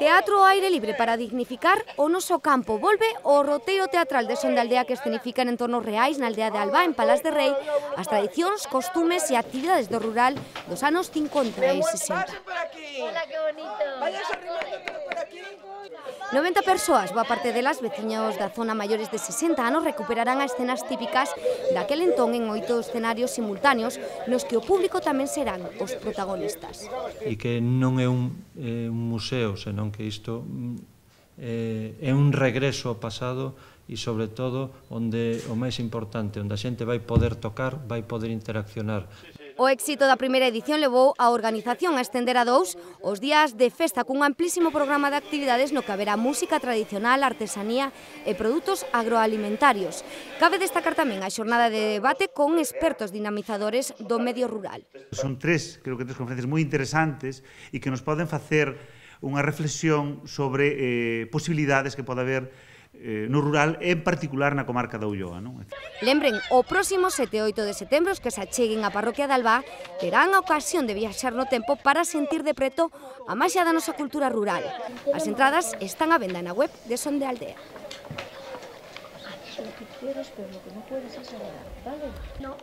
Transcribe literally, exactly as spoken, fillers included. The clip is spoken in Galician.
Teatro ao aire libre para dignificar o noso campo. Volve o roteiro teatral de Son de Aldea que escenifica en entornos reais na aldea de Alba, en Palás de Rei, as tradicións, costumes e actividades do rural dos anos cincuenta e sesenta. Hola, que bonito. Vayas arrimando todo por aquí. noventa persoas, boa parte delas veciños da zona maiores de sesenta anos, recuperarán as escenas típicas daquel entón en oito escenarios simultáneos nos que o público tamén serán os protagonistas. E que non é un, eh, un museo, senón que isto eh, é un regreso ao pasado e, sobre todo, onde o máis importante, onde a xente vai poder tocar, vai poder interaccionar. O éxito da primeira edición levou a organización a estender a dous os días de festa cun amplísimo programa de actividades no que haberá música tradicional, artesanía e produtos agroalimentarios. Cabe destacar tamén a xornada de debate con expertos dinamizadores do medio rural. Son tres, creo que tres conferencias moi interesantes e que nos poden facer unha reflexión sobre eh, posibilidades que pode haber eh, no rural, en particular na comarca da Ulloa. Non? Lembren, o próximo sete e oito de setembro, os que se acheguen á parroquia de Alba terán a ocasión de viaxar no tempo para sentir de preto a maxia da nosa cultura rural. As entradas están á venda na web de Son de Aldea. Lo que quieras, pero lo que no puedes es hablar, ¿vale? No.